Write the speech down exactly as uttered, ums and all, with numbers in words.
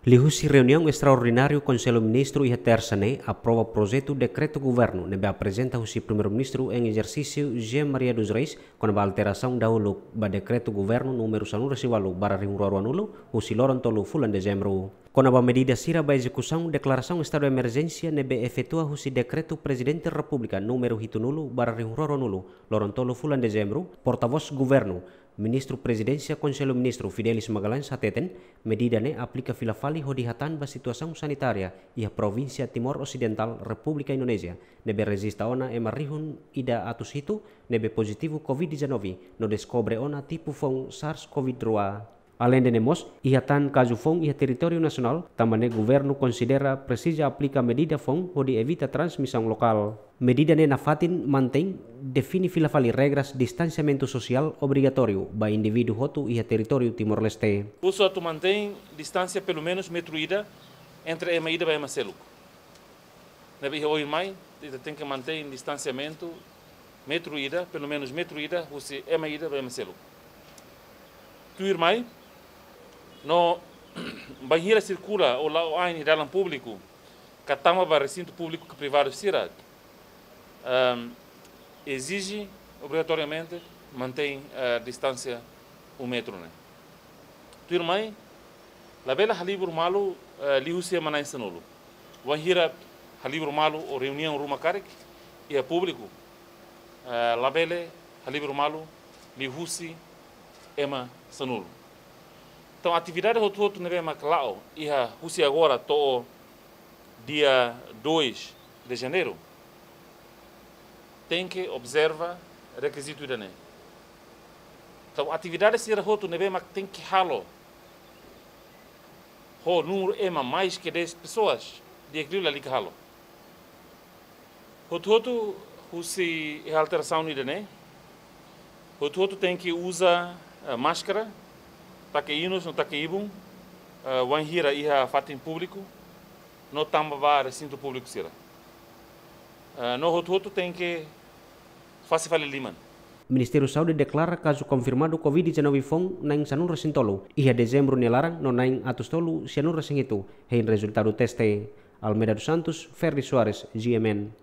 Liuhusi reuniaun estraordináriu Konsellu Ministru iha Tersa ne'e aprova projetu dekretu governu ne'ebé aprezenta husi Primeiru-Ministru em exercício José Maria dos Reis kona-ba alterasaun dahuluk ba dekretu governu númeru sanulu-resin-ualu barra rihun rua ruanulu husi loron tolu fulan Dezembru. Kona-ba medida sira ba ezekusaun deklarasaun estadu emerjénsia ne'ebé efetua husi dekretu Prezidente Repúblika númeru hitunulu barra rihun rua ruanulu loron tolu fulan Dezembru, portavós governu, Ministru Prezidénsia Konsellu Ministru Fidelis Magalhães hateten, medida ne'e aplika fila fali hodi hatán ba situasaun sanitária iha provínsia Timor Osidentál, Repúblika Indonézia, ne'ebé rejista ona ema rihun ida atus hitu ne'ebé pozitivu covid dezanove no deskobre ona tipu foun SARS-CoV dua. Aleinde ne'e mós, iha tan kazu foun iha territóriu nasionál, tanba ne'e governu konsidera presiza aplika medida foun hodi evita transmisaun lokál. Medida ne'e nafatin mantein define fila fali regras distansiamentu sosiál obrigatóriu ba indivíduu hotu iha territóriu Timor-Leste. Husu atu mantein distánsia pelumenus metru ida entre ema ida ba ema seluk. Ne'ebé iha oin mai, ita tenke mantein distansiamentu metru ida, pelumenus metru ida, husi ema ida ba ema seluk. Tuirmai, no bainhira sirkula ou la'o ain iha dalan públiku, ka tama ba resintu públiku ka privadu sira, ehm, ezije obrigatoriamente mantein, eh, distánsia um metru ne'e. Tuirmai, labele halibur malu, eh, liuhusi ema na'in sanulu. Wainhira halibur malu ou reuniaun ruma karik iha públiku, eh, labele halibur malu liuhusi ema sanulu. Entaun, atividade hotu-hotu ne'ebé mak la'o iha husi agora to'o dia dois de janeiro, tenke observa rekizitu ida-ne'e. Entaun, atividade sira hotu ne'ebé mak tenke halo ho númeru ema mais que dez pessoas, di'ak liu lalika halo. Hotu-hotu husi iha alterasaun ida-ne'e, hotu-hotu tenke uza, eh, máskara, take inus no take ibun, eh, wainhira iha fatin públiku, no tama ba resintu públiku sira. Eh, no hotu-hotu tenke fase fali liman. Ministériu Saúde deklara kazu konfirmadu covid dezanove foun na'in sanulu-resin-tolu iha Dezembru nia laran no na'in atus tolu sianulu-resin-hitu hein rezultadu teste. Almeida dos Santos, Ferdi Soares, G M N.